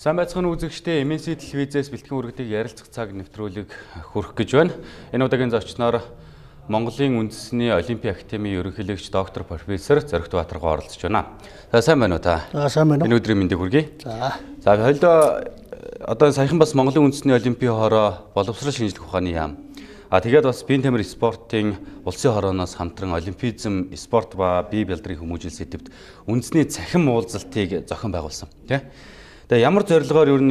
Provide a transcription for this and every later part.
Сайн байцгаана үзэгчдээ MNC телевизээс бэлтгэн үргэлжлэх ярилцах цаг нэвтрүүлэг хүрэх гэж байна. Энэ удаагийн зочноор Монголын үндэсний Олимпийн академийн ерөнхийлөгч доктор профессор Зоригт Баатаргаа оролцож байна. За сайн байна уу та? За сайн байна уу? Энэ өдрийн мэндийг хүргэе. За. За хоёулаа одоо саяхан бас Монголын үндэсний Олимпийн хороо боловсрол шинжлэх ухааны яам. Тэгээд бас биеийн тамир спортын улсын хорооноос хамтран олимпизм, спорт ба бие бэлтрийн хүмүүжил сэдвт үндэсний цахим уулзалтыг зохион байгуулсан. Тэ? Тэгээ ямар зорилгоор юу н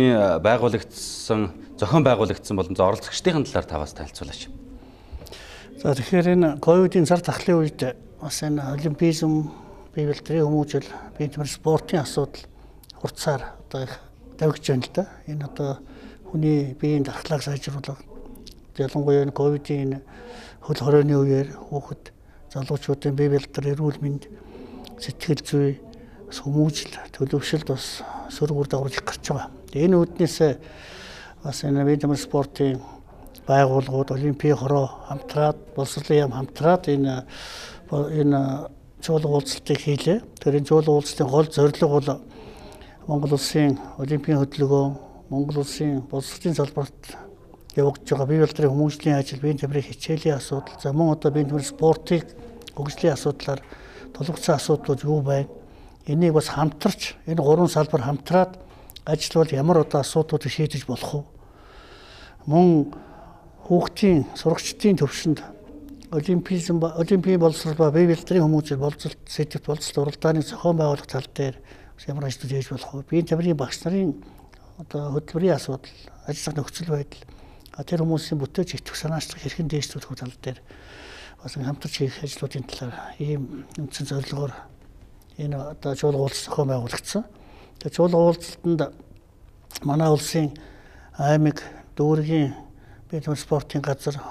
зохион байгуулагдсан болон оролцогчдын талаар таваас танилцуулаач. За тэгэхээр энэ ковидын цар тахлын үед бас энэ олимпизм, бие бэлтрийн хүмүүжил, биеийн тамир спортын асуудал хурцаар одоо их давхиж байна л да. Энэ одоо хүний биеийн дархлааг сайжруулах, ялангуяа энэ ковидын хөл хорионы үеэр хүүхэд залуучуудын бие бэлтрийн эрүүл мэнд, сэтгэл зүй, хүмүүжил, төлөвшөлд бас сөрөг үр дагавар их гарч байгаа. Энэ үүднээс бас энэ биеийн тамир спортын байгууллагууд, Олимпийн хороо хамтраад, боловсролын яам хамтраад энэ чуулга уулзалтыг хийлээ. Тэр энэ чуулга уулзалтын гол зорилго бол Монгол улсын Олимпийн хөдөлгөөн, Монгол улсын боловсролын салбарт явагдаж байгаа бие бэлтрийн хүмүүжлийн ажил, биеийн тамирын хичээлийн асуудал, за мөн одоо биеийн тамир спортыг хөгжлийн асуудлаар тулгуурласан асуудлууд юу байна? Энийг бас хамтарч, энэ гурван салбар хамтраад ажиллавал ямар одоо асуудлуудыг шийдэж болох вэ? Мөн хүүхдийн сурагчдын төвшөнд олимпийн боловсрол ба бие бэлтрийн хүмүүжил боловсролт сэдвт боловсрол уралдааны зохион байгуулах тал дээр ямар ажил хийж болох вэ? Биеийн тамирын багш нарын одоо хөтөлбөрийн асуудал, ажиллах нөхцөл байдал, тэр хүмүүсийн бүтээж итгэх санаачлах хэрхэн дээшлүүлэх тал дээр бас хамтарч хийх ажлуудын талаар ийм үндсэн зорилгоор энэ одоо чуулга уулзалт зохион байгуулагдсан. Тэгээ чуулга уулзалтанд манай улсын аймаг, дүүргийн биеийн тамир спортын газар,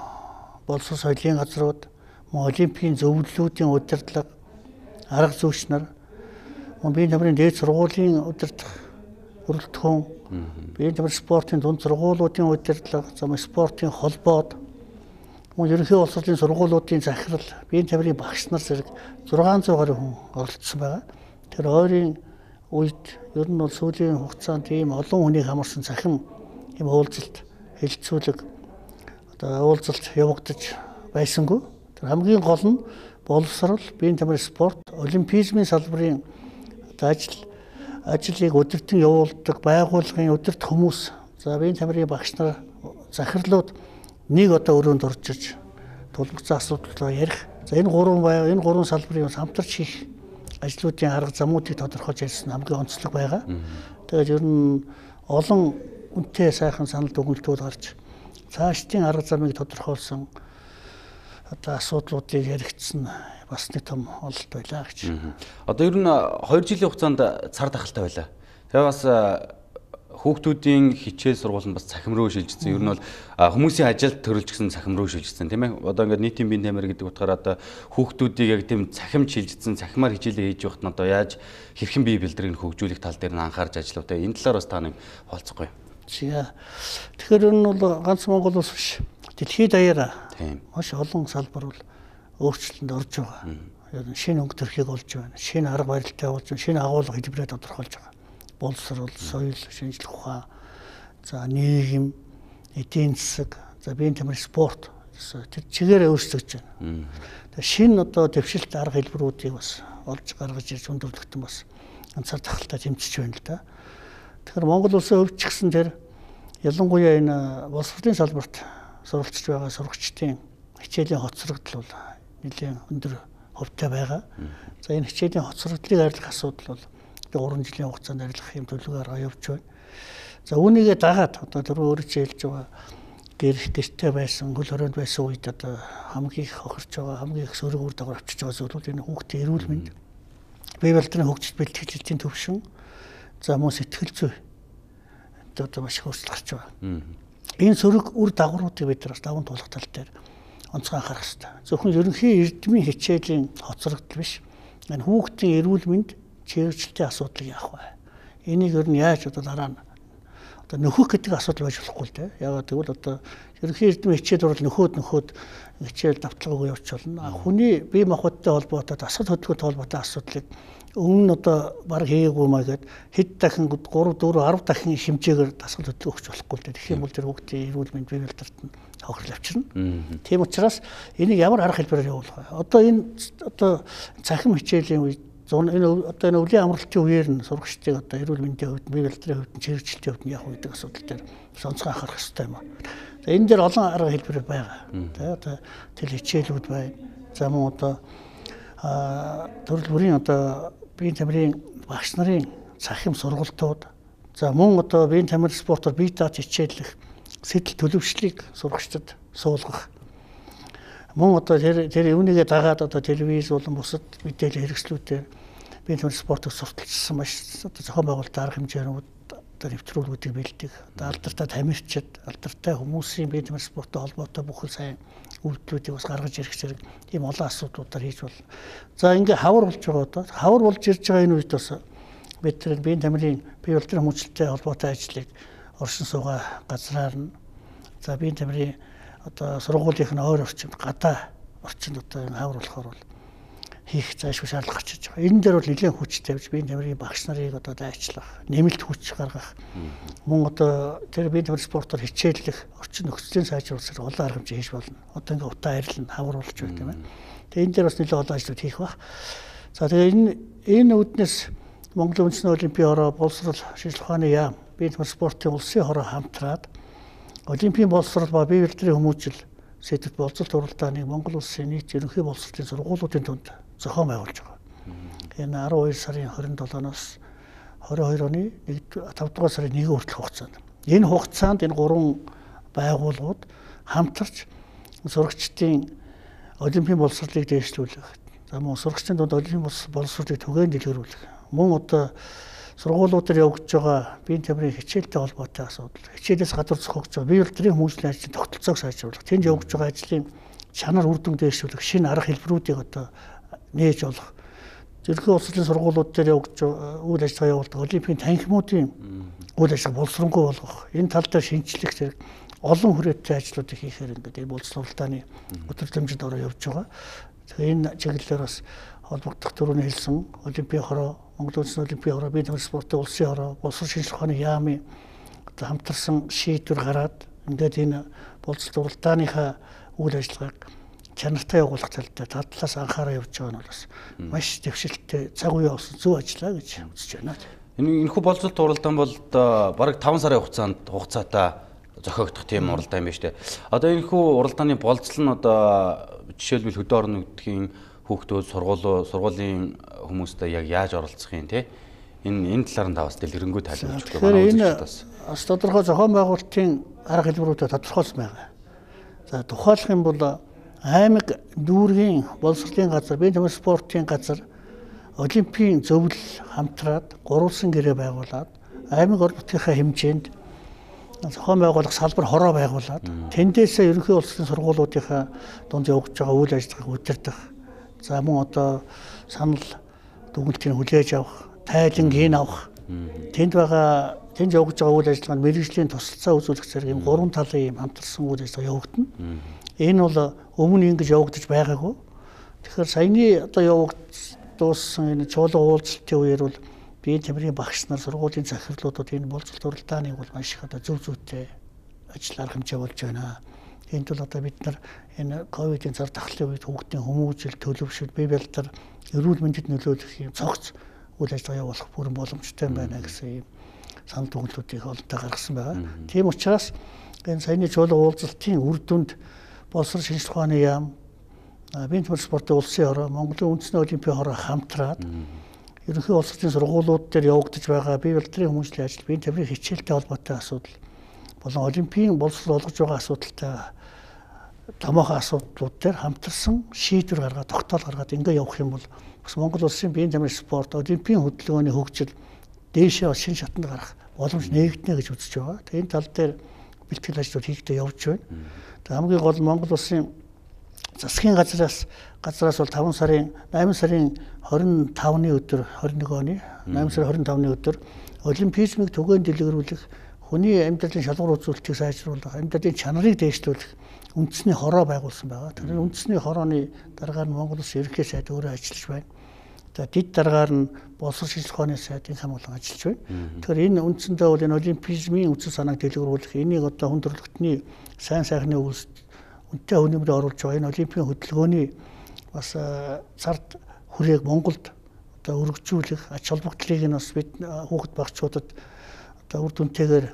боловсрол соёлын газрууд, олимпийн зөвлөлүүдийн удирдлага, арга зүйч нар, биеийн тамирын дээд сургуулийн удирдах бүрэлдэхүүн, биеийн тамир спортын дунд сургуулиудын удирдлага, спортын холбоод, ерөнхий боловсролын сургуулиудын захирал, биеийн тамирын багш нар зэрэг 600 гаруй хүн оролцсон байгаа. Тэр ойрын үед ер нь бол сүүлийн хугацаанд ийм олон хүнийг хамарсан цахим ийм уулзалт, хэлэлцүүлэг уулзалт явагдаж байсангүй. Тэр хамгийн гол нь боловсрол, биеийн тамир спорт, олимпизмын салбарын ажлыг удирдан явуулдаг байгууллагын удирдах хүмүүс, за биеийн тамирын багш нар, захирлууд нэг одоо өрөөнд орж тулгуурласан асуудлаа ярих. За энэ гурван салбарын хамтарч хийх ажлуудын арга замуудыг тодорхойлж ярьсан хамгийн онцлог байгаа. Тэгээд ер нь олон үнэтэй сайхан санал дүгнэлтүүд гарч цаашдын арга замыг тодорхойлсон одоо асуудлуудыг яригдсан бас нэг том ололт байлаа гэж. Одоо ер нь 2 жилийн хугацаанд цар тахалтай байлаа. Тэгээ бас хүүхдүүдийн хичээл сургууль нь бас цахим руу шилжсэн. Ер нь бол хүмүүсийн ажилд төрөлж гисэн цахим руу шилжсэн тийм ээ. Одоо ингээд нийтийн биеийн тамир гэдэг утгаараа одоо хүүхдүүдийг яг тийм цахим шилжсэн, цахимаар хичээлээ хийж явахт нь одоо яаж хэрхэн бие бэлтрийг хөгжүүлэх тал дээр нь анхаарч ажиллав. Энэ талаар бас та нэг холцохгүй. Тэгэхээр энэ бол ганц Монгол улс биш. Дэлхийд даяараа маш олон салбар бол өөрчлөлтөнд орж байгаа. Шинэ өнгө төрхийг олж байна. Шинэ арга барилтай болж байна. Шинэ агуулга хэлбэрээ тодорхойлж байгаа. Боловсрол, соёл, шинжлэх ухаан, за нийгэм, эдийн засаг, за биеийн тамир спорт тэр чигээрээ өөрчлөгдөж байна. Тэгээ шинэ одоо дэвшилт арга хэлбэрүүдийг бас олж гаргаж ирж өндөрлөгдөн бас ганцаар тахалтай тэмцэж байна л да. Тэгэхээр Монгол улсын хувьд ч гэсэн тэр ялангуяа энэ боловсролын салбарт суралцж байгаа сурагчдын хичээлийн хоцрогдол бол нэлээд өндөр хувьтай байгаа. За энэ хичээлийн хоцрогдлыг арилгах асуудал бол 3 жилийн хугацаанд арилгах юм төлөвөөр явж байна. За үүнийгээ дагаад одоо түрүү өөрөөр хэлж байгаа гэртээ байсан, хөл хорионд байсан үед одоо хамгийн их хохирч байгаа, хамгийн их сөрөг үр дагавар авчиж байгаа зүйл бол энэ хүүхдийн эрүүл мэнд, бие бэлтрийн хөгжил бэлтгэлтийн төвшин, за мөн сэтгэл зүй одоо маш их өөрчлөлт гарч байгаа. Энэ сөрөг үр дагавруудыг бид бас даван туулах тал дээр онцгой анхаарах хэрэгтэй. Зөвхөн ерөнхий эрдмийн хичээлийн хоцрогдол биш. Энэ хүүхдийн эрүүл мэнд чирэгчлэлтийн асуудлыг яах вэ? Энийг ер нь яаж одоо дараа нь одоо нөхөх гэдэг асуудал байж болохгүй л дээ. Яагаад гэвэл одоо ерөнхий эрдмийн хичээл бол нөхөд хичээл давталгаагүй явж болно. Хүний бие махбодтой холбоотой, дасгал хөдөлгөөнтэй холбоотой асуудлыг өмнө нь одоо баг хийгээгүй маа гэд хэд дахин 3 4 10 дахин хэмжээгээр дасгал хөтлөх өгч болохгүй л дээ. Тэгэх юм бол тэр хүүхдийн эрүүл мэнд бие бэлдэрт нь хохирол авчирна. Тийм учраас энийг ямар арга хэлбэрээр явуулах вэ? Одоо энэ цахим хичээлийн үед энэ өвлийн амралтын үеэр нь сурагчдыг одоо эрүүл мэндийн хувьд бие бэлтрийн хувьд чирэгчлэлтийн хувьд нь явах гэдэг асуудал дээр сонцгой анхаарах хэрэгтэй юм аа. За энэ дээр олон арга хэлбэр байгаа. Одоо тэл хичээлүүд байна. За мөн одоо төрөл бүрийн одоо биеийн тамирын багш нарын цахим сургалтууд, за мөн одоо биеийн тамир спортоор бие дааж хичээллэх сэтэл төлөвшлийг сурагчдад суулгах. Мөн одоо тэр юунийгээ дагаад одоо телевиз болон бусад мэдээлэл хэрэгслүүдээр биеийн тамир спортыг сурталчилсан маш одоо зохион байгуулалтын арга хэмжээнүүд одоо нэвтрүүлгүүдийг бэлдэх. Одоо алдартай тамирчид, алдартай хүмүүсийн биеийн тамир спорттой холбоотой бүх сайн үйлдэлүүдийг бас гаргаж ирэх зэрэг ийм олон асуудлуудаар хийж болно. За ингээ хавар болж байгаа одоо хавар болж ирж байгаа энэ үед бас бид тэр биеийн тамирын бие бэлтгэрийн хүмүүжлэлтэй холбоотой ажлыг оршин суугаа газраар нь за биеийн тамирын одоо сургуулийнхын ойр орчинд гадаа орчинд одоо энэ хавар болохоор бол хийх заашгүй шаардлага гарч иж байгаа. Энэ дээр бол нэлээд хүч тавьж биеийн тамирын багш нарыг одоо дайчлах, нэмэлт хүч гаргах. Мөн одоо тэр биеийн тамир спортоор хичээллэх, орчин нөхцөлийн сайжруулах олон арга хэмжээ хийж болно. Одоо ингээ утаа арилна, хавар болж байна тийм ээ. Тэгээ энэ дээр бас нэлээд олон ажлууд хийх баг. За тэгээ энэ үүднээс Монголын үндэсний олимпийн хороо, боловсрол шинжилгээ ухааны яам, биеийн тамир спортын улсын хороо хамтраад олимпийн боловсрол ба бие бэлтгэрийн хүмүүжил сэдвт боловсролт уралдааныг Монгол улсын нийт ерөнхий боловсролын сургуулиудын тунд зохион байгуулж байгаа. Энэ 12 сарын 27-оос 22 оны 5 дугаар сарын 1 хүртэлх хугацаанд. Энэ хугацаанд энэ 3 байгууллагууд хамтарч сурагчдын олимпийн боловсролыг дээшлүүлэх. За мөн сурагчдын дунд олимпийн боловсролыг түгээн дэлгэрүүлэх. Мөн одоо сургуулиудаар явагдаж байгаа биеийн тамирын хичээлтэй холбоотой асуудал, хичээлээс гадуур зохиогдож байгаа бие бэлтгэрийн хүмүүжлийн ажлын тогтолцоог сайжруулах, тэнд явагдаж байгаа ажлын чанар үр дүн дээшлүүлэх, шинэ арга хэлбэрүүдийг одоо нээж олох. Ерөнхий улсын сургуулиуд дээр явагдаж үйл ажиллагаа явуулдаг олимпийн танхимуудын үйл ажиллагаа боловсронгуй болгох, энэ тал дээр шинжлэх зэрэг олон хүрээтэй ажлуудыг хийхээр ингээд энэ боловсрол уралдааны өдрөмжөнд ороо явж байгаа. Тэгэхээр энэ чиглэлээр бас холбогдох төрөний хэлсэн олимпийн хороо, Монголын үндэсний олимпийн хороо, биеийн тамир спортын улсын хороо, боловсрол шинжилгээ ухааны яамын одоо хамтарсан шийдвэр гараад ингээд энэ боловсрол уралдааныхаа үйл ажиллагааг чанартай явуулах тал дээр талаас анхаараа явж байгаа нь бол бас маш дэвшилттэй цаг үе явуулсан зөв ажиллаа гэж үзэж байна. Энэхүү боловсролт уралдаан бол бараг 5 сарын хугацаатай зохиогдох тийм уралдаан юм байна шүү дээ. Одоо энэхүү уралдааны болцол нь одоо жишээлбэл хөдөө орон нутгийн хүүхдүүд сургуулийн хүмүүстэй яг яаж оролцох юм те энэ талаар нь таваас дэлгэрэнгүй тайлбарлаж өгөх манай үзэгчдээс бас тодорхой зохион байгуулалтын арга хэлбэрүүдэд тодорхойлсон байгаа. За тухайлах юм бол аймаг дүүргийн боловсролын газар, биеийн тамир спортын газар олимпийн зөвлөл хамтраад гурвалсан гэрээ байгуулад аймаг орон нутгийнхаа хэмжээнд зохион байгуулах салбар хороо байгуулад тэндээсээ ерөнхий улсын сургуулиудынхаа дунд явагдаж байгаа үйл ажиллагааг удирдах. За мөн одоо санал дүгнэлтийг хүлээж авах, тайлангийн авах. Тэнд явагдаж байгаа үйл ажиллагаанд мэргэжлийн тусалцаа үзүүлэх зэрэг ийм 3 талын ийм хамтарсан үйл ажиллагаа явагдана. Энэ бол өмнө ингэж явагдаж байгаагүй. Тэгэхээр саяны одоо явагдсан энэ чуулга уулзалтын үеэр бол биеийн тамирын багш нар сургуулийн захирлуудад энэ боловсрол уралдааныг бол маш их одоо зөв зүйтэй ажил арга хэмжээ болж байна. Энд бол одоо бид нар энэ ковидын цар тахлын үед хүүхдийн хүмүүжил, төлөвшөл, бие бэлтгэр, эрүүл мэндэд нөлөөлөх юм цогц үйл ажиллагаа явуулах бүрэн боломжтой байна гэсэн юм санал дүгнэлтүүдийг олонтаа гаргасан байгаа. Тийм учраас энэ саяны чуулга уулзалтын үр дүнд боловсрол шинжилгээ ухааны яам, биеийн тамир спортын улсын хороо, Монголын үндэсний олимпийн хороо хамтраад ерөнхий улсын сургуулиуд дээр явагдаж байгаа бие бэлтгэрийн хүмүүжлийн ажил, биеийн тамирын хичээлтэй холбоотой асуудал болон олимпийн боловсрол олгож байгаа асуудалтай томоохон асуудлууд дээр хамтарсан шийдвэр гаргаад тогтоол гаргаад ингээ явах юм бол бас Монгол улсын биеийн тамир спорт олимпийн хөдөлгөөний хөгжил дээшээ шинэ шатанд гарах боломж нээгдэнэ гэж үзэж байгаа. Тэгээ энэ тал дээр бэлтгэл ажлууд хийгдээ явж байна. Тэгээ хамгийн гол Монгол улсын засгийн газраас бол 8 сарын 25-ны өдөр 21 оны 8 сарын 25-ны өдөр олимпизмыг түгээн дэлгэрүүлэх, хүний амьдралын шалгуур үзүүлэлтийг сайжруулах, амьдралын чанарыг дээшлүүлэх үндэсний хороо байгуулсан байгаа. Тэр үндэсний хорооны дараагаар нь Монгол Улсын ерөнхий сайд өөрөө ажиллаж байна. одоо дид дараагаар нь боловсрол шинжилгээ ухааны сайдын хамгаалан ажиллаж байна. Тэгэхээр энэ үндсэндээ бол энэ олимпизмын үндсэн санааг дэлгэрүүлэх, энийг одоо хүн төрөлхтний сайн сайхны үйлс үнэтэй өнөмрөөр оруулж байгаа энэ олимпийн хөдөлгөөний бас цард хүрээг Монголд одоо өргөжүүлэх ач холбогдлыг нь бас бид хүүхэд багчуудад одоо үр дүнтэйгээр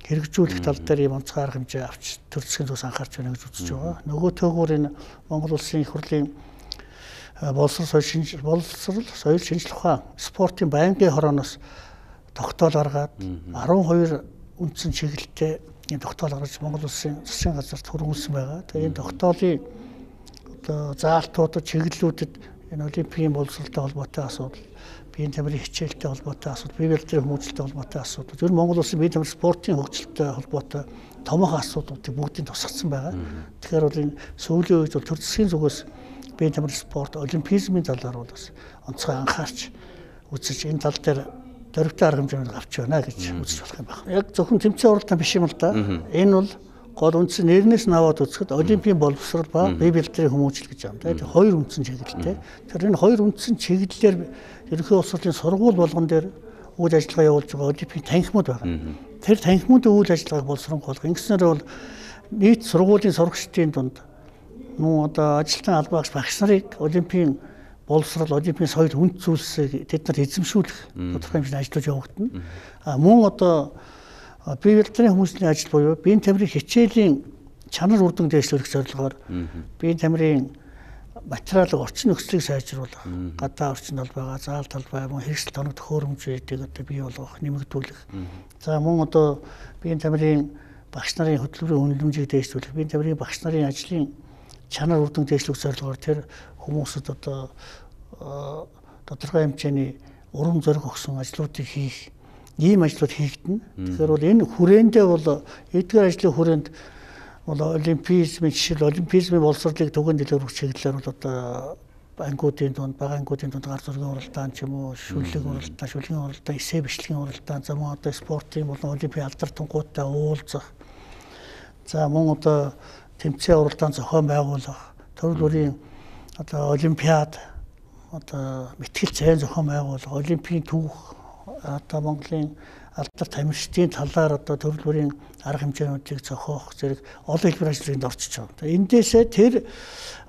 хэрэгжүүлэх тал дээр юм онцгой арга хэмжээ авч төр засгийн зүгээс анхаарч байна гэж үзэж байгаа. Нөгөө төөгөөр энэ Монгол улсын их хурлын боловсрол соёл шинжилгээ ухаан спортын байнгын хорооноос тогтоол гаргаад 12 үндсэн чиглэлтэй энэ тогтоол гаргаж Монгол улсын засгийн газарт хөрвүүлсэн байгаа. Тэгээ энэ тогтоолын одоо заалтуудад чиглэлүүдэд энэ олимпийн боловсролтой холбоотой асуудал, биеийн тамирын хичээлтэй холбоотой асуудал, бие барилдрын хүмүүжлэлтэй холбоотой асуудал, ер нь Монгол улсын биеийн тамирын спортын хөгжилтэй холбоотой томоохон асуудлуудыг бүгдийг тусгацсан байгаа. Тэгэхээр бол энэ сүүлийн үед бол төр засгийн зүгээс биеийн тамирын спорт, олимпизмын талаар бол бас онцгой анхаарч үзэж энэ тал дээр дөрвтэй арга хэмжээнд авч байна гэж үзэж болох юм байна. Яг зөвхөн тэмцээн уралдаан биш юм л да. Энэ бол гол үндсэн нэрнээс нь аваад үзэхэд олимпийн боловсрол ба бие барилдрын хүмүүжил гэж байна. Тэгээд хоёр үндсэн чиглэлтэй. Тэр энэ хоёр үндсэн чиглэлээр ерөнхий улс орны сургууль болгон дээр үйл ажиллагаа явуулж байгаа олимпийн танхимууд байгаа. Тэр танхимуудын үйл ажиллагааг боловсронгойлох. Ингэснээр бол нийт сургуулийн сурагчдын дунд мөн одоо ажилтан албаагч багш нарыг олимпийн боловсрол, олимпийн соёл хүнд зүйлсийг тэд нар эзэмшүүлэх тодорхой хэмжээний ажлууд явагдана. Мөн одоо бие барилдрын хүмүүжлийн ажил буюу биеийн тамирын хичээлийн чанар үр дүн дэвшлүүлэх зорилгоор биеийн тамирын материалын орчин нөхцөлийг сайжруулах, гадаа орчин талбайгаа, заал талбай, мөн хэрэгсэл тоног төхөөрөмжүүдийг одоо бий болгох, нэмэгдүүлэх. За мөн одоо биеийн тамирын багш нарын хөтөлбөрийн үнэлэмжийг дэвшлүүлэх, биеийн тамирын багш нарын ажлын чанар үр дүн дэвшлүүлэх зорилгоор тэр хүмүүсд одоо тодорхой хэмжээний урам зориг өгсөн ажлуудыг хийх, ийм ажлууд хийгдэнэ. Тэгэхээр бол энэ хүрээндээ бол эдгээр ажлын хүрээнд бол олимпизмын жишээл олимпизмын боловсролыг түгээн дэлгэрүүлэх чиглэлээр бол одоо ангуудын дунд, бага ангуудын дунд гар зургийн уралдаан ч юм уу, шүлгийн уралдаан, эсээ бичлэгийн уралдаан, за мөн одоо спортын болон олимпийн алдар тунгуудтай уулзах. За мөн одоо тэмцээн уралдаан зохион байгуулах, төрөл бүрийн одоо олимпиад одоо мэтгэл зайн зохион байгуулах, олимпийн түүх одоо Монголын алдар тамирчдын талаар одоо төрөл бүрийн арга хэмжээнүүдийг зохиох зэрэг олон хэлбэр ажлыг орчиж байгаа. Эндээсээ тэр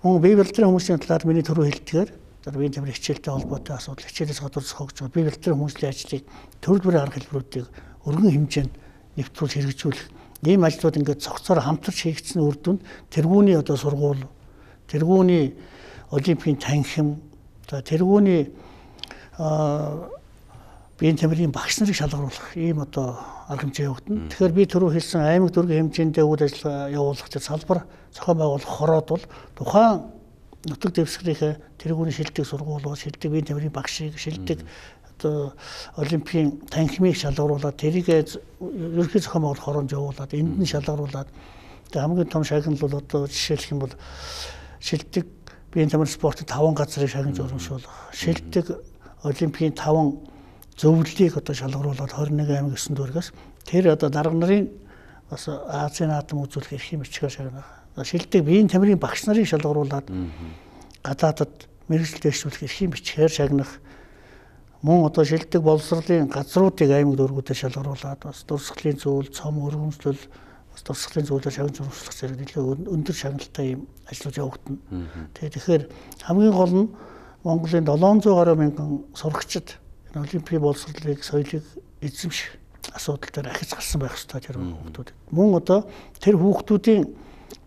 мөн бие барилдрын хүмүүсийн талаар миний түрүү хэлдгээр одоо биеийн тамирын хичээлтэй холбоотой асуудал, хичээлээс гадуур зохиогч байгаа бие барилдрын хүмүүсийн ажлыг төрөл бүрийн арга хэлбэрүүдийг өргөн хэмжээнд нэвтрүүлж хэрэгжүүлэх ийм ажлууд ингээд цогцоор хамтарч хийгдсэн үр дүнд тэргүүний одоо сургууль, тэргүүний олимпийн танхим, тэргүүний биеийн тамирын багш нарыг шалгаруулах ийм одоо арга хэмжээ явагдана. Тэгэхээр би түрүү хэлсэн аймаг дүүргийн хэмжээндээ үйл ажиллагаа явуулах гэж салбар зохион байгуулах хороод бол тухайн нутаг дэвсгэрийнхээ тэргүүний шилдэг сургуулиуд, шилдэг биеийн тамирын багшийг, шилдэг одоо олимпийн танхимыг шалгаруулад тэрийг ерөнхий зохион байгуулах хороонд явуулаад энд нь шалгаруулад хамгийн том шагнал бол одоо жишээлх юм бол шилдэг биеийн тамирын спортын 5 газрыг шагнаж урамшуулах, шилдэг олимпийн 5 зөвлөлийг одоо шалгаруулад 21 аймаг 9 дүүргээс тэр одоо дарга нарын бас Азийн наадам үзүүлэх эрхийн бичгээр шагнах. Шилдэг биеийн тамирын багш нарыг шалгаруулад гадаадад мэргэжил дэвшүүлэх эрхийн бичгээр шагнах. Мөн одоо шилдэг боловсролын газруудыг аймаг дүүргүүдэд шалгаруулад бас дурсгалын зүйл, цом өргөмжлөл, бас дурсгалын зүйлээр шагнаж урамшлах зэрэг нэлээд өндөр шагналтай ийм ажлууд явагдана. Тэгэхээр хамгийн гол нь Монголын 700 гаруй мянган сурагчид олимпийн боловсролыг, соёлыг эзэмших асуудал дээр ахиж гарсан байх ёстой тэр хүүхдүүд. Мөн одоо тэр хүүхдүүдийн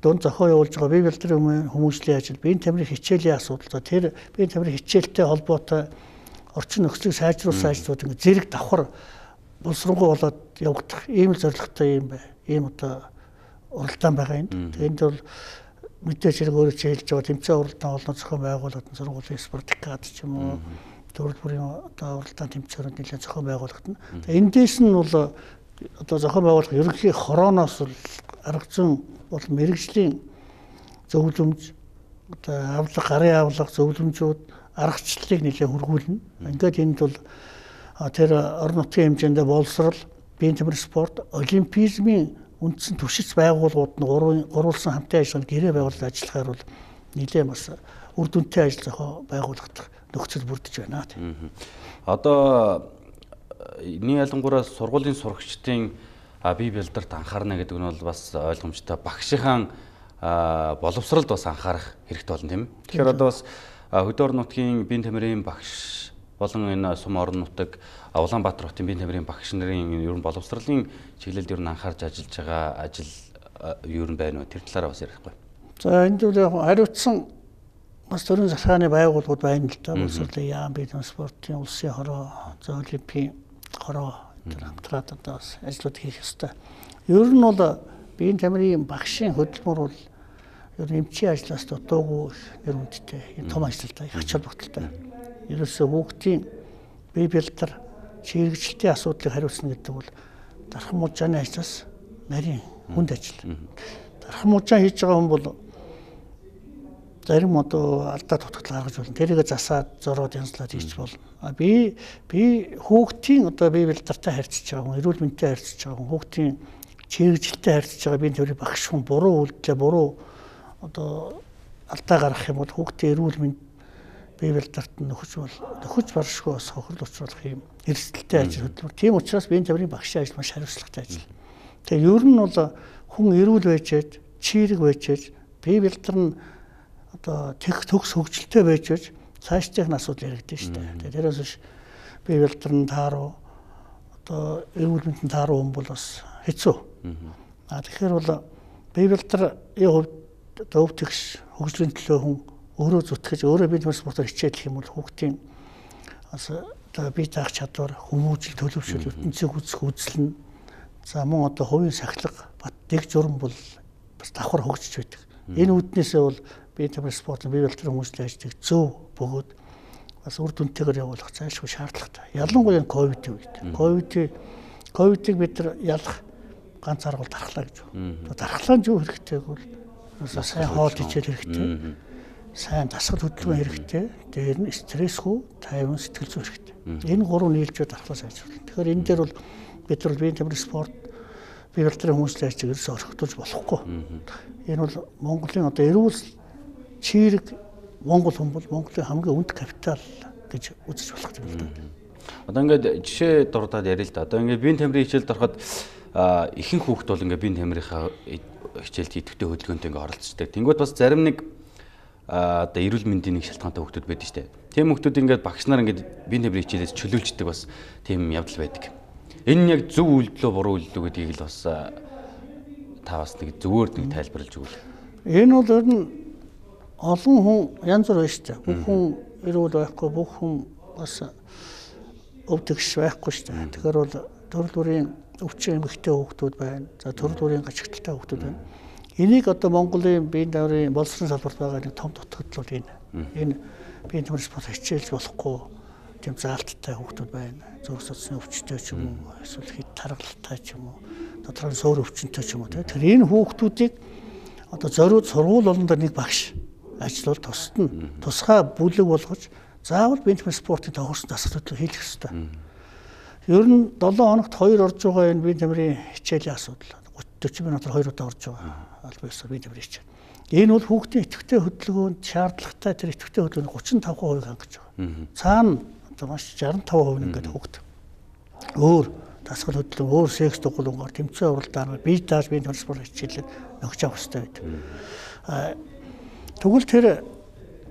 дунд зохион явуулж байгаа бие барилдрын хүмүүжлийн ажил, биеийн тамирын хичээлийн асуудал, тэр биеийн тамирын хичээлтэй холбоотой орчин нөхцөлийг сайжруулсан ажлууд ингэ зэрэг давхар боловсронгуй болоод явагдах ийм л зорилготой юм бай. Ийм одоо уралдаан байгаа юм. Тэгэнд бол мэдээж хэрэг өөрөө хэлж байгаа тэмцээн уралдаан олон зохион байгуулалт сургуулийн спартакиад ч юм уу төрөл бүрийн одоо уралдаан тэмцээнүүд нэлээд зохион байгуулагдана. Эндээс нь бол одоо зохион байгуулах ерөнхий хорооноос бол арга зүйн бол мэрэгжлийн зөвлөмж одоо авлага, гарын авлага, зөвлөмжүүд, аргачлалыг нэлээд хургуулна. Ингээд энд бол тэр орон нутгийн хэмжээндээ боловсрол, биеийн тамирын спорт, олимпизмын үндсэн түвшиц байгууллагууд нь гурвалсан хамтын ажиллагаанд гэрээ байгуулалт ажиллахаар бол нэлээд бас үр дүнтэй ажил зохион байгуулагдах нөхцөл бүрдэж байна тийм. Одоо энэ ялангуураа сургуулийн сурагчдын бие бэлдэрт анхаарна гэдэг нь бол бас ойлгомжтой. Багшийн боловсролд бас анхаарах хэрэгтэй болно тийм. Тэгэхээр одоо бас хөдөө орон нутгийн биеийн тамирын багш болон энэ сум орон нутаг Улаанбаатар хотын биеийн тамирын багш нарын ер нь боловсролын чиглэлд ер нь анхаарч ажиллаж байгаа ажил юу юм байна вэ? Тэр талаараа бас ярихгүй. За энэ зүйл хариуцсан бас төрийн захиргааны байгууллагууд байна л да. Боловсролын яам, биеийн тамирын спортын улсын хороо, за олимпийн хороо энэ хамтраад одоо бас ажлууд хийх ёстой. Ер нь бол биеийн тамирын багшийн хөдөлмөр бол ер нь эмчийн ажлаас дутуугүй нэр хүндтэй. Энэ том ажил та их ач холбогдолтой. Ерөөсөө хүүхдийн бие бэлдэр чирэгжилтийн асуудлыг хариуцна гэдэг бол дархан мужааны ажлаас нарийн хүнд ажил. Дархан мужаа хийж байгаа хүн бол зарим одоо алдаа тутагтал гаргаж болно. Тэрийг засаад зороод янзлаад хийж болно. Би хүүхдийн одоо бие бэлдэртэй харьцаж байгаа хүн, эрүүл мэндтэй харьцаж байгаа хүн, хүүхдийн чирэгжилттэй харьцаж байгаа биеийн тамирын багш хүн буруу үйлдэлээ буруу одоо алдаа гаргах юм бол хүүхдийн эрүүл мэнд бие бэлдэрт нөхөж баршгүй бас хохирол учруулах юм эрсдэлтэй ажил хөдөлмөр. Тийм учраас биеийн тамирын багшийн ажил маш хариуцлагатай ажил. Тэгээ ер нь бол хүн эрүүл байжээд, чирэг байжээж, бие бэлдэр нь одоо төгс хөгжилтэй байж цаашдын асуудал яригдэн шүү дээ. Тэрээс биш бие бэлдэр нь тааруу одоо эрүүл мэндийн тааруу хүн бол бас хэцүү. Тэгэхээр бол бие бэлдэрийн хувьд одоо өв тэгш хөгжлийн төлөө хүн өөрөө зүтгэж өөрөө бие тамирын спортоор хичээлэх юм бол хүүхдийн бас одоо бие даах чадвар, хүмүүжил, төлөвшөл, ертөнцийг үзэх үзэл нь за мөн одоо хувийн сахилга, бат дэг журам бол бас давхар хөгжиж байдаг. Энэ үүднээсээ бол бие тамирын спортын бие бэлдэрийн хүмүүжлийн ажлыг зөв бөгөөд бас үр дүнтэйгээр явуулах зайлшгүй шаардлагатай. Ялангуяа ковидын үед. Ковидыг бид нар ялах ганц арга бол дархлаа гэж байна. Дархлаа нь юу хэрэгтэй гэвэл сайн хоол ичээл хэрэгтэй. Сайн дасгал хөдөлгөөн хэрэгтэй. Дээр нь стрессгүй, тайван сэтгэл зүй хэрэгтэй. Энэ гурав нийлжээ дархлаа сайжруулах. Тэгэхээр энэ дээр бол бид нар биеийн тамирын спорт бие бэлдэрийн хүмүүжлийн ажлыг ерөөсөөр орхитуулж болохгүй. Энэ бол Монголын одоо эрүүл чирэг Монгол хүн бол Монголын хамгийн өнд капитал гэж үзэж болох юм л да. Одоо ингээд жишээ дурдаад ярил л да. Одоо ингээд биеийн тамирын хичээлд ороход ихэнх хүүхд бол ингээд биеийн тамирынхаа хичээлд идэвхтэй хөдөлгөөнтэй ингээд оролцдог. Тэнгүүд бас зарим нэг одоо эрүүл мэндийн нэг шалтгаантай хүүхдүүд байдаг шүү дээ. Тийм хүүхдүүд ингээд багш нар ингээд биеийн тамирын хичээлээс чөлөөлждөг бас тийм явдал байдаг. Энэ нь яг зөв үйлдэл үү буруу үйлдэл үү гэдгийг л бас та бас нэг зөвөр нэг тайлбарлаж өгвөл. Энэ бол ер нь олон хүн янз бүр байна шүү дээ. Бүх хүн эрүүл байхгүй, бүх хүн бас өвдөгч байхгүй шүү дээ. Тэгэхээр бол төрөл бүрийн өвчин эмэгтэй хүүхдүүд байна. За төрөл бүрийн гачигдaltaй хүүхдүүд байна. Энийг одоо Монголын биеийн тамирын боловсролын салбарт байгаа нэг том дутагдал бол энэ. Энэ биеийн тамирын спорт хичээлж болохгүй тийм заалттай хүүхдүүд байна. Зүрх судасны өвчтөй ч юм уу, эсвэл хэд таргалтай ч юм уу, доторх суур өвчнөй ч юм уу. Тэгэхээр энэ хүүхдүүдийг одоо зориуд сургууль болондоо нэг багш ажиллавал тусна. Тусгай бүлэг болгож заавал биеийн тамирын спортын тохирсон дасгал хөдөлгөөн хийх ёстой. Ер нь 7 хоногт 2 орж байгаа энэ биеийн тамирын хичээлийн асуудал. 30-40 минутаар 2 удаа орж байгаа. Албан ёсоор биеийн тамирын хичээл. Энэ бол хүүхдийн идэвхтэй хөдөлгөөнд шаардлагатай тэр идэвхтэй хөдөлгөөний 35% хангаж байгаа. Цаана одоо маш 65% ингээд хүүхд. Өөр дасгал хөдөлгөөн, өөр секс дугуулгаар тэмцээн уралдаанаар бие дааж биеийн тамирын спорт хичээлээр нөхж авах хэрэгтэй байдаг. Тэгвэл тэр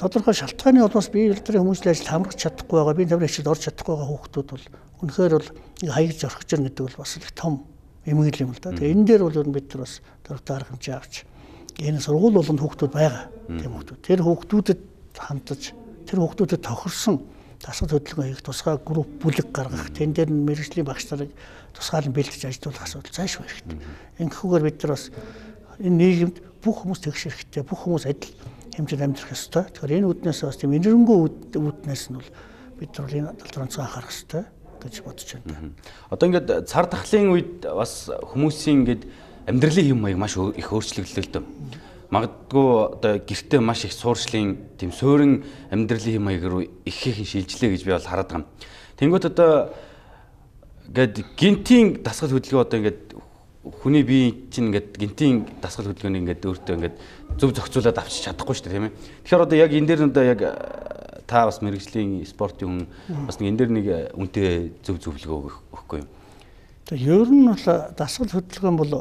тодорхой шалтгааны улмаас бие бэлдэрийн хүмүүжлийн ажилд хамрах чадахгүй байгаа, биеийн тамирын хичээлд орж чадахгүй байгаа хүүхдүүд бол үнэхээр бол хаягдж орхиж ирнэ гэдэг бол бас их том эмгэл юм л да. Тэгээ энэ дээр бол ер нь бид нар бас дөрвөн арга хэмжээ авч энэ сургууль болонд хүүхдүүд байгаа. Тийм хүүхдүүд. Тэр хүүхдүүдэд хандаж тэр хүүхдүүдэд тохирсон дасгал хөдөлгөөн хийх тусгай групп бүлэг гаргах, тэн дээр нь мэрэгжлийн багш нарыг тусгаалan бэлдэж ажилуулах асуудал зайлшгүй хэрэгтэй. Ингэхгүйгээр бид нар бас энэ нийгэмд бүх хүмүүс тэгш хэрэгтэй, бүх хүмүүс адил хэмжээнд амьдрах ёстой. Тэгэхээр энэ үүднээс бас тийм энэрэнгүй үүднээс нь бол бид нар энэ талаар анхаарах ёстой гэж бодож байна. Одоо ингээд цар тахлын үед бас хүмүүсийн ингээд амьдралын хэм маяг маш их өөрчлөгдлөө л дөө. Магадгүй одоо гэртээ маш их сууршлын тийм суурин амьдралын хэм маяг руу ихэхэн шилжлээ гэж би бол хараад байгаа юм. Тэнгүүт одоо ингээд гинтийн дасгал хөдөлгөөн одоо ингээд хүний бие чинь ингээд гинтийн дасгал хөдөлгөөнийг ингээд өөртөө ингээд зөв зохицуулаад авчиж чадахгүй шүү дээ тийм ээ. Тэгэхээр одоо яг энэ дээр нь одоо яг та бас мэрэгжлийн спортын хүн бас нэг энэ дэр нэг үнтэй зөвлөгөө өгөхгүй юу? Тэгээ ер нь бол дасгал хөдөлгөөн бол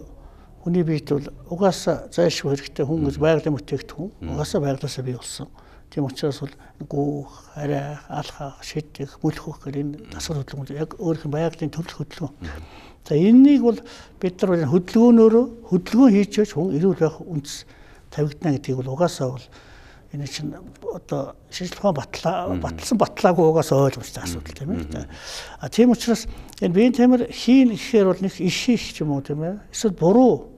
хүний биед бол угаасаа зайлшгүй хэрэгтэй хүн гэж байгалийн бүтээгдэхүүн угаасаа байгалаасаа бий болсон. Тийм учраас бол гүүх, арай, алхах, шидэх, мөлхөх гэх энэ дасгал хөдөлгөөн яг өөрийнх нь байгалийн төрөл хөдөлгөөн. За энэнийг бол бид нар хөдөлгөөн хийж хүн эрүүл байх үндэс тавигдана гэдгийг бол угаасаа бол энэ чинь одоо шинжилгээ батлсан батлаагүй угаасаа ойлгомжтой асуудал тийм ээ. Тийм учраас энэ биеийн тамир хийн гэхээр бол нэг иш хийх ч юм уу тийм ээ. Эсвэл буруу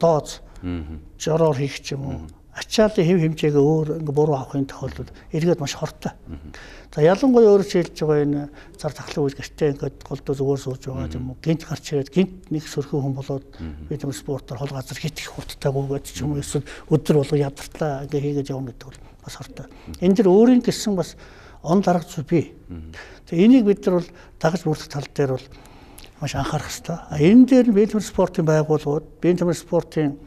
дооз жороор хийх ч юм уу. Ачааллын хэв хэмжээгээ өөр ингээ буруу авахын тохиолдолд эргээд маш хортой. За ялангуяа өөрөөр хэлж байгаа энэ зар тахлын үйл гэртээ ингээд голдоо зүгээр сууж байгаа юм уу? Гинт гарч ирээд гинт нэг сөрхөн хүн болоод бид нар спортоор хол газар хитэх хурдтайгүйгээд ч юм уу эсвэл өдөр болго ядартлаа ингээ хийгээд явна гэдэг бол бас хортой. Энэ дэр өөрийн гэсэн бас он дарга зүйл бий. Тэгээ энийг бид нар бол дагаж бүрдэх тал дээр бол маш анхаарах хэрэгтэй. Энэ дээр нь биеийн тамир спортын байгууллагууд, биеийн тамир спортын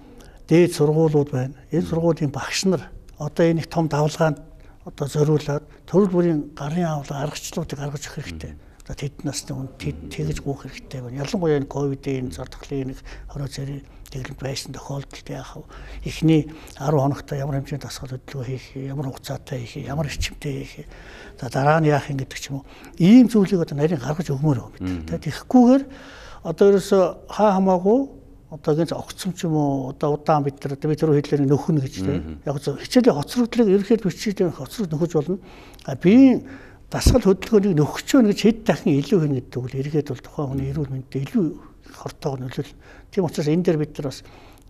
дээд сургуулиуд байна. Энэ сургуулийн багш нар одоо энэ том давлгаанд одоо зориулаад төрөл бүрийн гарын авлага аргачлалуудыг гаргаж өгөх хэрэгтэй. Одоо тэд насны хүн тэгж гүйх хэрэгтэй байна. Ялангуяа энэ ковидын зар тахлын нэг 20 сарын дэглэмт байсан тохиолдолд яах вэ? Эхний 10 хоногт ямар хэмжээний дасгал хөдөлгөөн хийх, ямар хугацаатай хийх, ямар эрчимтэй хийх. За дараа нь яах юм гэдэг ч юм уу. Ийм зүйлийг одоо нарийн гаргаж өгмөр байна. Тэгэхгүйгээр одоо ерөөсөө хаа хамаагүй одоогийн огцом ч юм уу одоо удаан бид тэр хэлээр нөхөн гэж тийм яг хичээлийн хоцрогдлыг ерөнхийдөө бичиж хоцрог нөхөж болно. Биеийн дасгал хөдөлгөөнийг нөхөж өгнө гэж хэд дахин илүү хийнэ гэдэг бол эргээд бол тухайн хүний эрүүл мэндэд илүү хортойгоор нөлөөлнө. Тийм учраас энэ дээр бид нар бас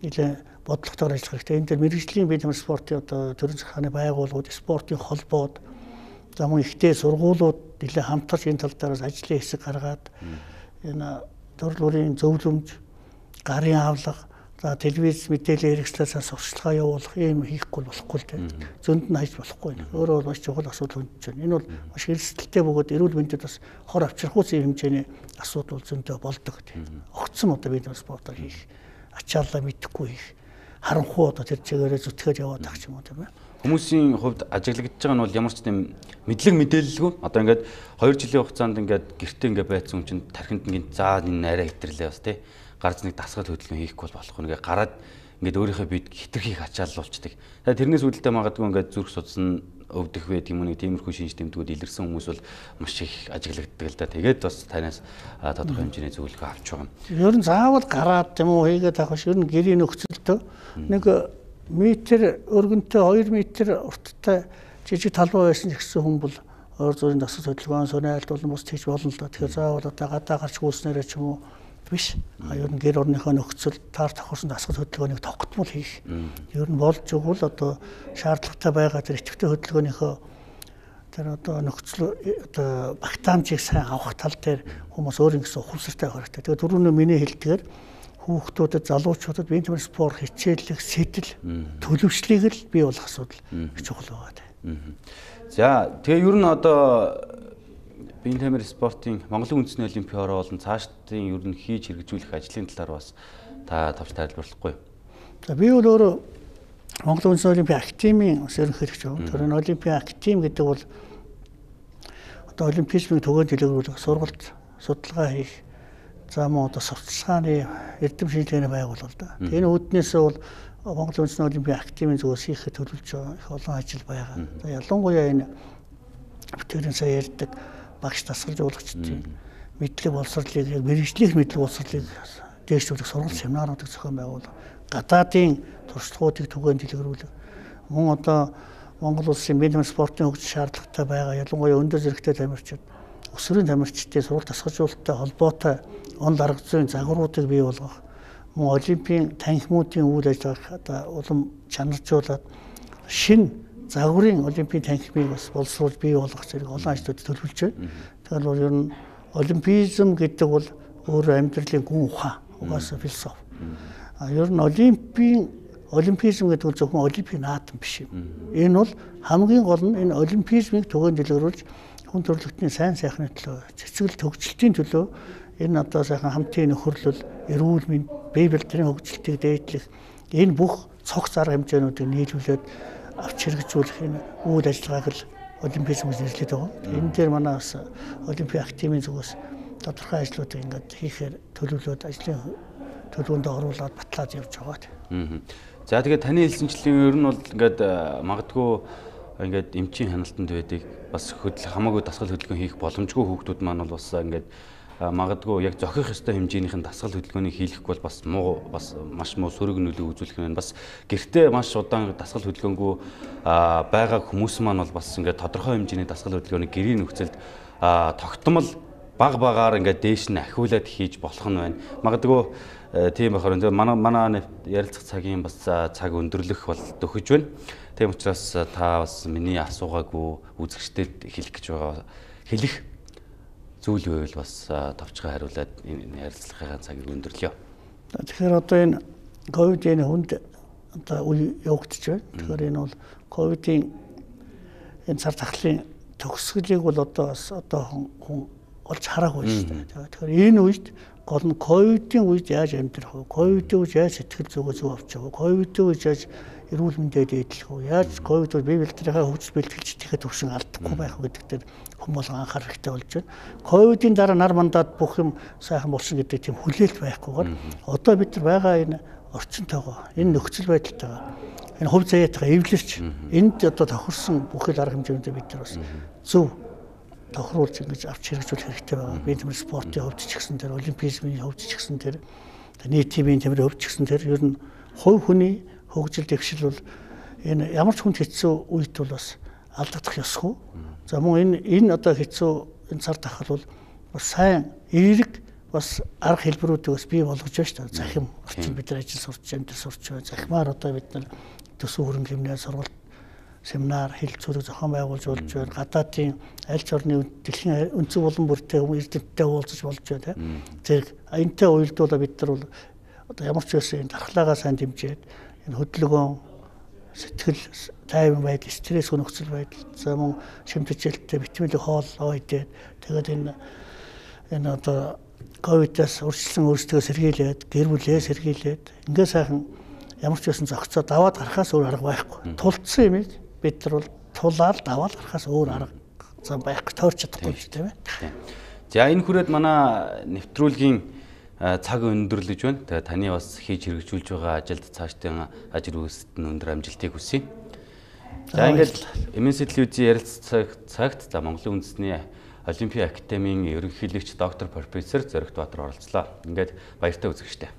нэлээд бодлоготойгоор ажиллах хэрэгтэй. Энэ дээр мэрэгжлийн биеийн тамир спортын одоо төрийн захааны байгууллагууд, спортын холбоод за мөн ихтэй сургуулиуд нэлээд хамтарч энэ тал дээр ажлын хэсэг гаргаад энэ төрөл бүрийн зөвлөмж гарын авлага, за телевиз мэдээлэл хэрэгслээс сурталчилгаа явуулах ийм хийхгүй болохгүй л дээ. Зөнд нь хайж болохгүй. Өөрөө бол маш чухал асуудал хүндэж байна. Энэ бол маш эрсдэлтэй бөгөөд эрүүл мэндэд бас хор авчрахуйц ийм хэмжээний асуудал зөндөө болдог. Огцом одоо бид спортоор хийх, ачааллаа мэдэхгүй хийх, харанхуй одоо тэр чигээрээ зүтгээд яваад тах юм уу тийм ээ. Хүмүүсийн хувьд ажиглагдж байгаа нь бол ямар ч тийм мэдлэг мэдээлэлгүй. Одоо ингээд 2 жилийн хугацаанд ингээд гэртээ ингээд байцсан хүн чинь тархинд ингээд заа энэ арай хэтэрлээ бас тий. Гарч нэг дасгал хөдөлгөөн хийхгүй болохгүй нэгэ гараад ингээд өөрийнхөө бид хитрхийг ачааллуулцдаг. Тэгээ тэрнээс үүдэлтэй магадгүй ингээд зүрх судас өвдөх вэ тийм үү тиймэрхүү шинж тэмдгүүд илэрсэн хүмүүс бол маш их ажиглагддаг л да. Тэгээд бас танаас тодорхой хэмжээний зөвлөгөө авч байгаа. Ер нь заавал гараад тийм үү хийгээд авах биш. Ер нь гэрийн нөхцөлтөө нэг метр өргөнтэй 2 метр урттай жижиг талбай байсан гэсэн хүн бол өөр зүрийн дасгал хөдөлгөөн сонирхолт болон бус хийж болно л да. Тэгэхээр заавал одоо гадаа гарч гүйснээрээ ч юм уу биш. Ер нь гэр орныхоо нөхцөл таар тохирсон дасгал хөдөлгөөнийг тогтмол хийх. Ер нь болж өгвөл одоо шаардлагатай байгаа тэр идэвхтэй хөдөлгөөнийхөө тэр одоо нөхцөл одоо багтаамжийг сайн авах тал дээр хүмүүс өөрийн гэсэн ухамсартай байх хэрэгтэй. Тэгээд түрүүний миний хэлдгээр хүүхдүүдэд, залуучуудад биеийн тамир спорт хичээллэх сэтэл төлөвшлийг л бий болох асуудал чухал байгаа тийм. За тэгээ ер нь одоо биеийн тамир спортын Монголын үндэсний олимпийн хороо болон цаашдын ер нь хийж хэрэгжүүлэх ажлын талаар бас та товч тайлбарлахгүй. За би бол өөрөө Монголын үндэсний олимпийн активийн ерөнхийлөгч юм. Тэр нь олимпийн актив гэдэг бол одоо олимпизмын төгөөнд дэлгэрүүлэх, сургалт, судалгаа хийх, за мөн одоо сурталчилгааны эрдэм шинжилгээний байгууллага да. Энэ үүднээс бол Монголын үндэсний олимпийн активийн зүгээс хийхэд төлөвлөж байгаа их олон ажил байгаа. За ялангуяа энэ бүтээрийн сая ярьдаг багш дасгалжуулагчдын мэдлэг боловсролыг яг мэргэжлийнх мэдлэг боловсролыг дээшлүүлэх сургалт семинаруудыг зохион байгуулах, гадаадын туршлагуудыг түгээн дэлгэрүүлэх, мөн одоо Монгол улсын биеийн тамир спортын хөгжил шаардлагатай байгаа ялангуяа өндөр зэрэгтэй тамирчид, өсвөрийн тамирчдын сургалт дасгалжуулалттай холбоотой он дарга зүйн загваруудыг бий болгох, мөн олимпийн танхимуудын үйл ажиллагааг одоо улам чанаржуулаад шинэ загварын олимпийн танхимыг бас боловсруулж бий болгох зэрэг олон ажлууд төлөвлөж байна. Тэгэхээр бол ер нь олимпизм гэдэг бол өөр амьдралын гүн ухаан, угаасаа философи. Ер нь олимпизм гэдэг бол зөвхөн олимпийн наадам биш юм. Энэ бол хамгийн гол нь энэ олимпизмыг түгээн дэлгэрүүлж хүн төрөлхтний сайн сайхны төлөө, цэцгэл төгсөлтийн төлөө энэ одоо сайхан хамтын нөхөрлөл, эрүүл мэнд, бие бэлтрийн хөгжилтийг дээдлэх энэ бүх цогц арга хэмжээнүүдийг нийлүүлээд авч хэрэгжүүлэх энэ үйл ажиллагааг л олимпизм гэж нэрлэдэг байгаа. Энэ дээр манай бас Олимпийн академийн зүгээс тодорхой ажлуудыг ингээд хийхээр төлөвлөд ажлын төлөвөнд оруулаад батлаад явж байгаа. За тэгээд таны хэлсэнчлэн ер нь бол ингээд магадгүй ингээд эмчийн хяналтанд байдаг бас хамаагүй дасгал хөдөлгөөн хийх боломжгүй хүүхдүүд маань бол бас ингээд магадгүй яг зохих ёстой хэмжээнийхэн дасгал хөдөлгөөнийг хийхгүй бол бас маш муу сөрөг нөлөө үзүүлэх нь бас гэртээ маш удаан дасгал хөдөлгөөнгүй байгаа хүмүүс маань бол бас ингээд тодорхой хэмжээний дасгал хөдөлгөөнийг гэрийн нөхцөлд тогтмол багаар ингээд дээш нь ахиулаад хийж болох нь байна. Магадгүй тийм болохоор манай ярилцах цагийн бас цаг өндөрлөх бол төхөж байна. Тийм учраас та бас миний асуугаагүй үзэгчдэд хэлэх зүйл байвал бас товчхон хариулаад энэ ярилцлагын цагийг өндөрлөё. Тэгэхээр одоо энэ ковидын хүнд одоо үе явагдаж байна. Тэгэхээр энэ бол ковидын энэ цар тахлын төгсгөлийг бол одоо хүн олж хараагүй шүү дээ. Тэгэхээр энэ үед гол нь ковидын үед яаж амьдрах вэ? Ковидын үед яаж сэтгэл зүгөө зөв авч явах вэ? Ковидын үед яаж эрүүл мэндэд эдлэх вэ? Яаж ковид үед бие бэлтрийнхээ хөгжил бэлтгэлж идэхэд төвшин алдахгүй байх вэ гэдэгт хүн болгон анхаарах хэрэгтэй болж байна. Ковидын дараа нар мандаад бүх юм сайхан болсон гэдэг тийм хүлээлт байхгүйгээр одоо бид нар байгаа энэ орчинтойгоо, энэ нөхцөл байдалтайгаа, энэ хувь заяатайгаа эвлэрч энд одоо тохирсон бүхэл арга хэмжээндээ бид нар бас зөв тохируулж ингэж авч хэрэгжүүлэх хэрэгтэй байгаа. Биеийн тамирын спортын хөвч ч гэсэн тэр олимпизмын хөвч ч гэсэн тэр нийтийн биеийн тамирын хөвч ч гэсэн тэр ер нь хувь хүний хөгжил дэвшил бол энэ ямар ч хүнд хэцүү үед бол бас алдагдах ёсгүй. За мөн энэ одоо хэцүү энэ цар тахал бол бас сайн эерэг бас арга хэлбэрүүдийг бас бий болгож байна шүү дээ. Захим орчин бид нар ажил сурч, амьдрал сурч байна. Захимаар одоо бид нар төсөв хөрөнгө хэмнээ сургалт семинар хэлцүүлэг зохион байгуулж болж байна. Гадаадын аль ч орны дэлхийн өнцөг болон бүртээ эрдэмтдтэй уулзаж болж байна. Зэрэг энэтэй уялдуулаа бид нар бол одоо ямар ч байсан энэ дархлаагаа сайн дэмжиж энэ хөдөлгөөн сэтгэл тайван байдал, стресс нөхцөл байдал, за мөн шимтгэлтэй витамин хооллоо идээд тэгээд энэ одоо ковидаас өршөлсөн өөрсдөө сэргийлээд, гэр бүлээ сэргийлээд ингээ сайхан ямар ч байсан зохицоо даваад гарахаас өөр арга байхгүй. Тулцсан юмыг бид нар бол тулаад даваад гарахаас өөр арга зам байхгүй, тойрч чадахгүй шүү дээ. За энэ хүрээд манай нэвтрүүлгийн цаг өндөрлөж байна. Тэгээ таны бас хийж хэрэгжүүлж байгаа ажилд цаашдын ажил үйлсэд нь өндөр амжилтыг хүсье. За ингээд MSL-ийн ярилцах цагт Монголын үндэсний Олимпийн академийн ерөнхийлөгч доктор профессор Зоригт Баатар оролцлоо. Ингээд баяртай үзэгчтэй.